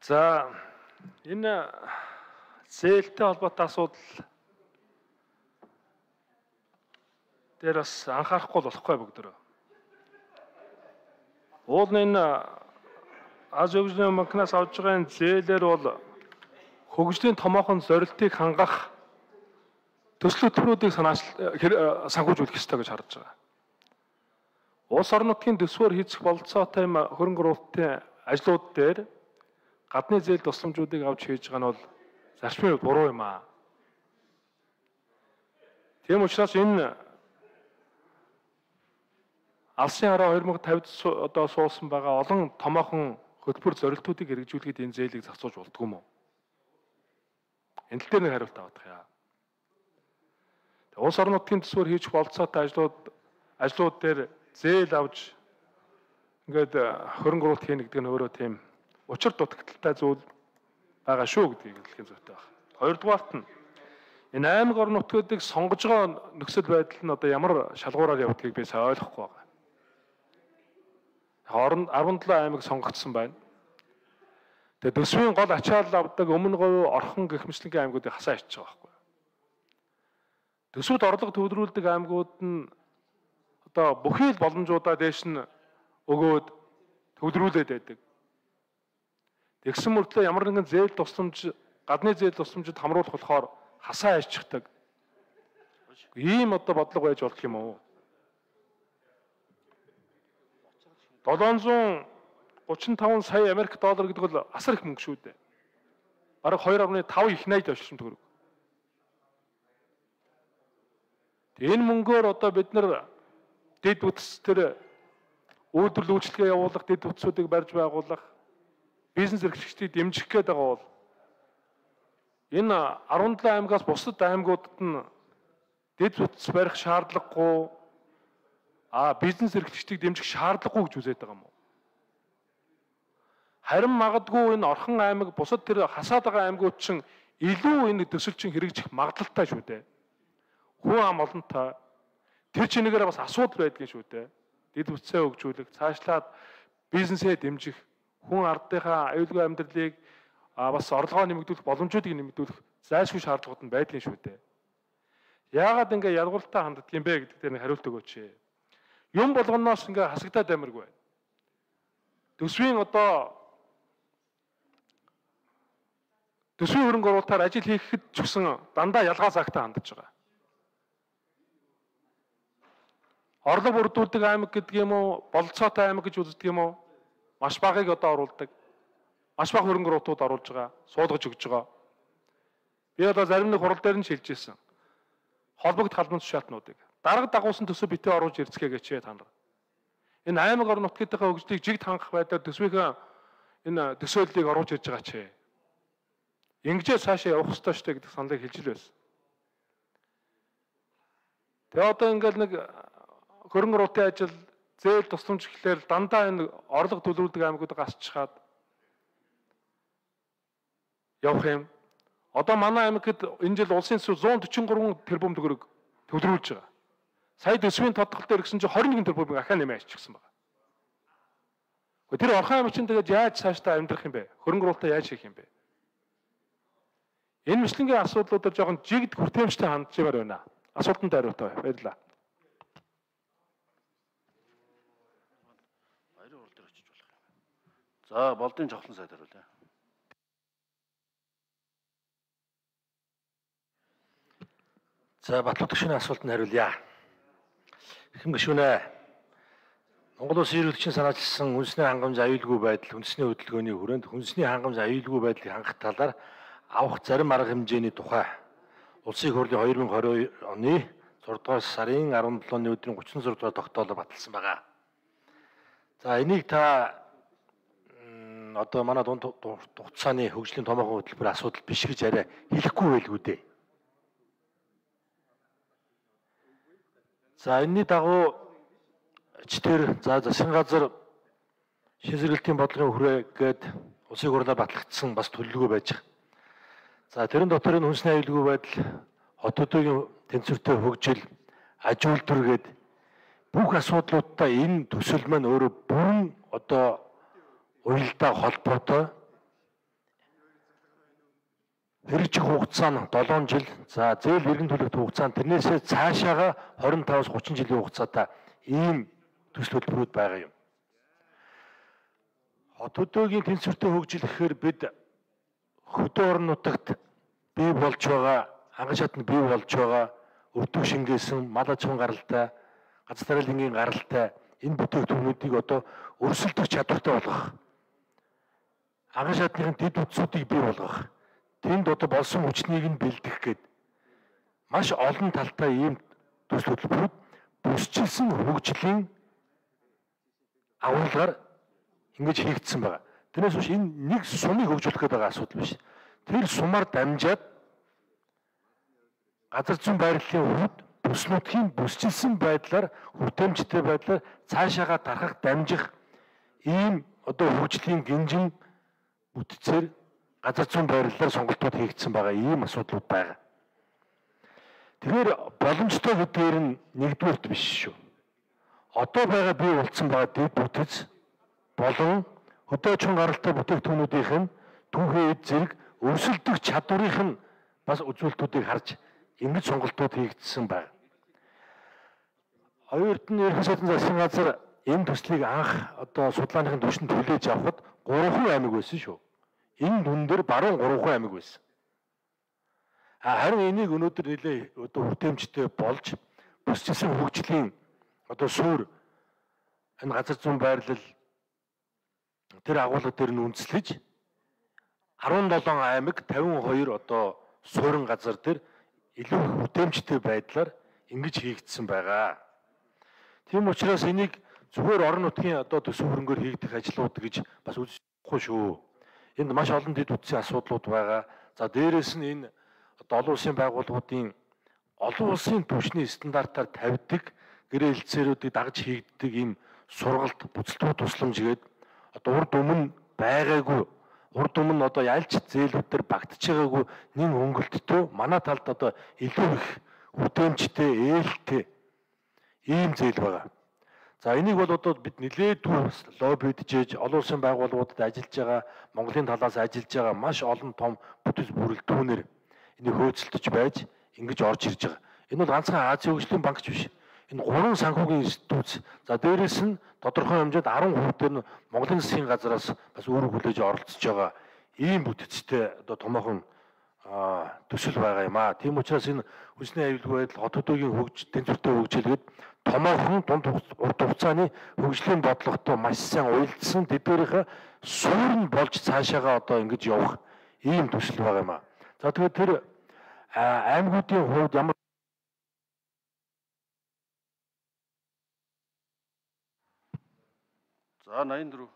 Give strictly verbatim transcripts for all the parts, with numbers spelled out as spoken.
За энэ зээлтэй холбоотой асуудал дээр бас анхаарахгүй болохгүй бүгдөө. Уул энэ Аз хөгжлийн банкнаас авж байгаа зээлээр бол хөгжлийн томоохон зорилтыг хангах төсөл хөтөлбөрүүдийг санхүүжүүлэх ёстой гэж харж байгаа. Улс орон нутгийн төсвөөр хийцэх бололцоотой хөрөнгө оруулалтын ажлууд дээр гадны зээл тусламжуудыг авч хийж байгаа нь бол зарчмын хувьд буруу юм аа. Тийм учраас энэ Алсын хараа хоёр мянга тавьд одоо суулсан байгаа олон томоохон хөтөлбөр зорилтуудыг хэрэгжүүлэхэд энэ зээлийг зохицуулж болдгоо юм уу? Энэ тал дээр нэг хариулт авах яа. Улс орон нутгийн төсвөөр хийж бололцоотой ажлууд ажлууд дээр зээл авч ингээд хөрөнгө оруулалт хийнэ гэдэг нь өөрөө тийм учир дутагдaltaй зүйл байгаа шүү гэдгийг хэлэх зүйтэй байна. Хоёрдугаарт нь энэ аймаг орон нутгуудыг сонгож байгаа нөхцөл байдал нь одоо ямар шалгуураар явдгийг би сайн ойлгохгүй байна. Орон арван долоо аймаг сонгогдсон байна. Тэгээ төсвийн гол ачаал авдаг өмнө говь орхон гэх мэтлэнгийн аймагуудыг хасаа ичж байгаа байхгүй. Төсвөд орлого төвлөрүүлдэг аймагуд нь одоо бүхий л боломжуудаа дээш нь өгөөд төвлөрүүлээд байдаг. Тэгсэн мөртлөө ямар нэгэн зээл тусламж, гадны зээл тусламжид хамруулах болохоор хасаа ичдэг. Ийм одоо бодлого байж болох юм уу? долоон зуун гучин таван сая Америк доллар гэдэг бол асар их мөнгө шүү дээ. Бараг хоёр орны тав их найд орчим төгрөг. Энэ мөнгөөр одоо бид нар дэд үтс төр үйлдвэрлэл үйлчлэгээ явуулах, дэд үтсүүдийг барьж байгуулах, бизнес эрхлэгчдийг дэмжих гээд байгаа бол энэ арван долоо аймагаас бусад аймагуудад нь дэд үтс барих шаардлагагүй, а бизнес эрхлэгчдийг дэмжих шаардлагагүй гэж үзээд байгаа юм уу? Харин магадгүй энэ орхон аймаг бусад тэр хасаад байгаа аймагуд чинь илүү энэ төсөл чинь хэрэгжих магадлалтай шүү дээ. Хүн ам олонтой тэр чинээгээр бас асуудал байдгийн шүү дээ. Дэд үтсээ хөгжүүлэх, цаашлаад бизнесээ дэмжих, хүн ардынхаа аюулгүй амьдралыг бас орлогоо нэмэгдүүлэх, боломжуудыг нэмэгдүүлэх зайлшгүй шаардлагууд нь байдлын шүү дээ. Яагаад ингэ ялгууртай ханддаг юм бэ гэдэг дээр хариулт өгөөч. Юм болгоноос ингээ хасагдаад амиргүй. Төсвийн одоо төсвийн хөрөнгө оруулалтаар ажил хийхэд ч гэсэн дандаа ялгаа цагтаа хандж байгаа. Орлого бүрдүүлдэг аймаг гэдэг юм уу, бололцоотой аймаг гэж үздэг юм уу? Маш багыг одоо оруулдаг. Маш бага хөрөнгө оруулалтууд оруулж байгаа, суулгаж өгж байгаа. Би одоо зарим нэг хурал дээр нь шилжижсэн. Холбогд халбан тушаалтнуудыг дарга дагуулсан төсөв битээ оруулж ирцгээе гэж та нар. Энэ аймаг орон нутгийнхаа хөгжлийг жигд хангах байдлаар төсвийнхээ энэ төсөөллийг оруулж ирж байгаа ч. Ингэжээ цаашаа явах ёстой шүү дээ гэдэг саналыг хэлж л байсан. Тэгээ одоо ингээл нэг хөрөнгө оруулалтын ажил, зээл тусламж гэхлээр дандаа энэ орлого төлөвлөдөг аймагуудыг гасчихад явах юм. Одоо манай аймагт энэ жил улсын төсөв зуун төрчин гурван тэрбум төгрөг төлөвлөж байгаа. Сая төсвийн тодтгол дээр гэсэн чинь хорин нэгэн тэрбум ахаа нэмээ аччихсан байна. Тэр орхон аймаг чинь тэгээд яаж цаашдаа амьдрах юм бэ? Хөрөнгө оруулалтаа яаж хийх юм бэ? Энэ мэтлэнгийн асуудлуудаар жоохон жигд хүртээмжтэй хандж яваар байна. Асуултанд хариултаа баярлалаа. Баярын урал дээр очиж болох юм. За, болдын жавхлан сайд хариулъя. За, Батлуу төвшний асуултанд хариулъя. Хэн гишүүнэ? Монгол Улсын ерөнхийлөгчийн санаачилсан үндэсний хангамж аюулгүй байдал, үндэсний хөдөлгөөний хүрээнд үндэсний хангамж аюулгүй байдлыг хангах талаар авах зарим арга хэмжээний тухай Улсын их хурлын хоёр мянга двадцать оны зургаадугаар сарын арван долооны өдрийн гучин зураг дугаар тогтоолоор баталсан байгаа. За энийг та одоо манай дунд хугацааны хөгжлийн томоохон хөтөлбөр асуудал биш гэж арай хэлэхгүй байлгүй дээ. За энэний дагуу читэр за засгийн газар шийдвэрлэлтийн бодлогын хүрээгээд улсын хурлаар батлагдсан бас төлөвлөгөө байж байгаа. За тэрэн дотор энэ хүнсний аюулгүй байдал, хот төдийгийн тэнцвэртэй хөгжил, аж үйлдвэр гээд бүх асуудлуудтай энэ төсөл маань өөрөө бүрэн одоо уялдаа холбоотой хэрэгжих хугацаа нь долоон жил. За зээл эргэн төлөвт хугацаа нь тэрнээсээ цаашаага двадцать пять-аас тридцать жилийн хугацаатай ийм төсөл хөтөлбөрүүд байгаа юм. Хот хөдөөгийн тэнцвэртэй хөгжил гэхээр бид хөдөө орон нутагт бий болж байгаа, анган шатнд бий болж байгаа өртөг шингээсэн мал аж ахуйн гаралтай, газар тариалангийн гаралтай энэ бүтээгдэхүүнүүдийг одоо өрсөлдөх чадвартай болгох. Анган шатны дэд үтсүүдийг бий болгох. Тэнд одоо болсон хүчнийг нь бэлдэх гээд маш олон талтай ийм төсөл хөтөлбөрүүд бүсчилсэн хөгжлийн агуулгаар ингэж хийгдсэн байна. Тэрнээс биш энэ нэг сумыг хөгжүүлэх гэдэг асуудал биш. Тэр сумаар дамжаад газар зүйн байрлалын хувьд бүс нутгийн бүсчилсэн байдлаар хүртээмжтэй байдлаар цаашаага тархах дамжих ийм одоо хөгжлийн гинжин бүтцээр газар зүйн байрлалаар сонголтууд хийгдсэн байгаа ийм асуудлууд байгаа. Тэгэхээр боломжтой гэдгээр нь нэгдүгээрт биш шүү. Одоо байгаа бий болцсон байгаа дэд бүтэц болон хөдөө аж ахуйн гаралтай бүтээгдэхүүнүүдийнх нь түүхий эд зэрэг өрсөлдөх чадварынх нь бас үзүүлэлтүүдийг харж ингэж сонголтууд хийгдсэн байна. Хоёрт нь ерөнхий сайдын засгийн газар энэ төслийг анх одоо судалгааныхын түвшинд хүлээж авахд гурван аймаг байсан шүү. Энэ дүн дээр баруун гурван аймаг байсан. Харин энийг өнөөдөр нэлээ одоо хүртээмжтэй болж бүсчилсэн хөгжлийн одоо суурь энэ газар зүйн байрлал тэр агуулга дээр нь үндэслэж арван долоон аймаг тавин хоёр одоо суурин газар дээр илүү хүртээмжтэй байдлаар ингэж хийгдсэн байгаа. Тийм учраас энийг зүгээр орон нутгийн одоо төсөв хөрөнгөөр хийгдэх ажлууд гэж бас үзэхгүй шүү. Энд маш олон дэд үтсийн асуудлууд байгаа. За дээрэс нь энэ одоо олон улсын байгууллагуудын олон улсын түвшний стандартаар тавьдаг гэрээ хэлтсээрүүдийг дагж хийгддэг ийм сургалт бүцэлтүүд тусламжгээд одоо урд өмнө байгаагүй урд өмнө одоо ялч зээлүүдээр багтж байгаагүй нэн хөнгөлттэй манай талд одоо илүү их хүртээмжтэй ээлтэй ийм зээл байгаа. За энийг бол одоо бид нэлээдгүй лоббиджээж олон улсын байгууллагуудад ажиллаж байгаа Монголын талаас ажиллаж байгаа маш олон том бүтэц бүрэлдэхүүнээр энийг хөөцөлдөж байж ингэж орж ирж байгаа. Энэ бол ганцхан Азийн хөгжлийн банкч биш. Энэ гурван санхүүгийн институт. За дээрэс нь тодорхой хэмжээнд арван хүүхдэр нь Монголын засгийн газараас бас өөрөө хүлээж оролцож байгаа ийм бүтэцтэй одоо томоохон төсөл байгаа юм аа. Тийм учраас энэ хүнсний аюулгүй байдал хот хөдөөгийн хөгж тэнцвэртэй хөгжүүлгээд томоохон дунд урт хугацааны хөгжлийн бодлоготой маш сайн уялдсан тэдгээрийнхээ суурь нь болж цаашаага одоо ингэж явах ийм төсөл байгаа юм аа. За тэгээд тэр аймагуудын хувьд ямар За восемьдесят четыре.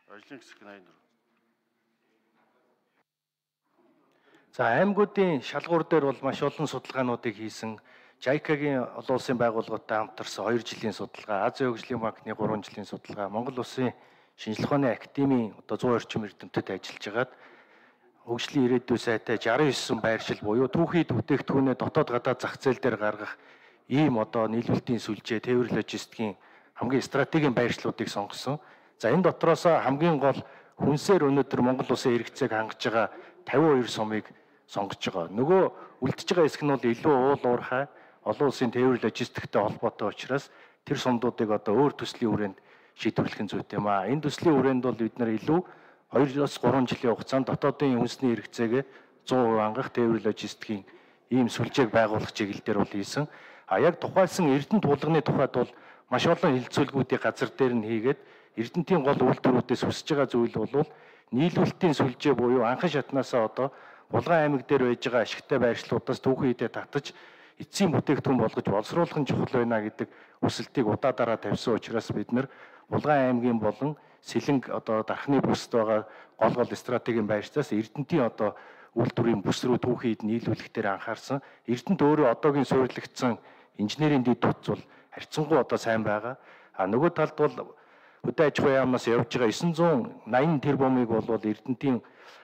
Ажлын хэсэг восемьдесят четыре. За аймагуудын шалгуур дээр бол маш олон судалгаануудыг хийсэн. жайкагийн олон улсын байгууллагатай хамтарсан хоёр жилийн судалгаа, Азийн хөгжлийн банкны гурван жилийн судалгаа, Монгол Улсын шинжлэх ухааны академийн одоо зуун орчим эрдэмтэд ажиллаж хагаад хөгжлийн ирээдүйн сайтай шестьдесят девять байршил буюу түүхий бүтээгдэхүүнээ дотоод гадаад зах зээл дээр гаргах ийм одоо нийлүүлэлтийн сүлжээ, тээвэр логистикийн хамгийн стратегийн байршлуудыг сонгосон. За энэ дотроос хамгийн гол хүнсээр өнөөдөр Монгол Улсын хэрэгцээг хангаж байгаа тавин хоёр сумыг сонгож байгаа. Нөгөө үлдэж байгаа хэсэг нь бол илүү уул уурхай олон улсын тээвэр логистиктэй холбоотой учраас тэр сумдуудыг одоо өөр төслийн хүрээнд шийдвэрлэх нь зүйтэй юм аа. Энэ төслийн хүрээнд бол бид нар илүү хоёроос гурван жилийн хугацаанд дотоодын хүнсний хэрэгцээгээ сто процент хангах тээвэр логистикийн ийм сүлжээг байгуулах чиглэлээр бол хийсэн. А яг тухайлсан Эрдэнэт тулганы тухайд бол маш олон хилцүүлгүүдийг газар дээр нь хийгээд Эрдэнэтийн гол үйлдвэрүүдээс хүсэж байгаа зүйл бол нийлүүлэлтийн сүлжээ буюу анхан шатнаасаа одоо Булган аймаг дээр байж байгаа ашигтай байршлуудаас түүхэн хідээ татаж эцсийн бүтээгдэхүүн болгож боловсруулах нь чухал байна гэдэг хүсэлтийг удаа дараа тавьсан учраас бид нар Булган аймгийн болон Сэлэнг одоо дархны бүсд байгаа гол гол стратегийн байршлаас Эрдэнэтийн одоо үйлдвэрийн бүс рүү түүхэн хід нийлүүлэх дээр анхаарсан. Эрдэнэт өөрөө одоогийн суурилагдсан инженерийн дэд утас бол харьцангуй одоо сайн байгаа. А нөгөө талд бол хөдөө аж ахуйн яамнаас явж байгаа девять восемь тэрбумыг бол Эрдэнэтийн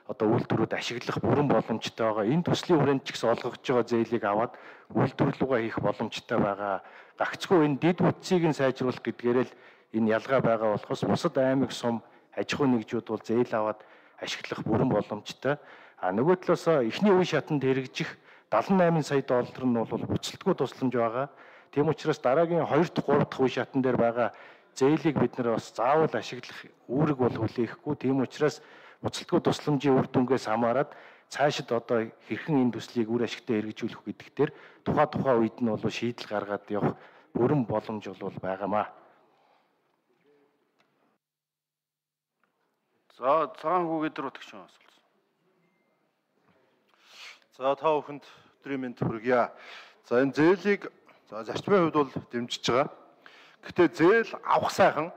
одоо үйлдвэрүүд ашиглах бүрэн боломжтой байгаа. Энэ төслийн хүрээнд ч гэсэн олгогдож байгаа зээлийг аваад үйлдвэрлэлүүгээ хийх боломжтой байгаа. Гагцгүй энэ дэд бүтцийг нь сайжруулах гэдгээрээ л энэ ялгаа байгаа болохоос бусад аймаг сум аж ахуйн нэгжүүд бол зээл аваад ашиглах бүрэн боломжтой. А нөгөө талаас эхний үе шатанд хэрэгжих далайн найман сая доллар нь бол буцалтгүй тусламж байгаа. Тийм учраас дараагийн хоёр дахь гурав дахь үе шатан дээр байгаа зээлийг бид нэр бас заавал ашиглах үүрэг бол хүлээхгүй. Тийм учраас буцалтгүй тусламжийн үр дүнгээс хамаарат цаашид одоо хэрхэн энэ төслийг үр ашигтай хэрэгжүүлэх гэдэг дээр тухай тухай үед нь бол шийдэл гаргаад явах бүрэн боломж бол байгаамаа. За цагаан хүүгээд рүү төгшөн асуулт. За та бүхэнд өдрийн мэнд хүргье. За энэ зээлийг за зарчмын хувьд бол дэмжиж байгаа. Гэхдээ зээл авах сайхан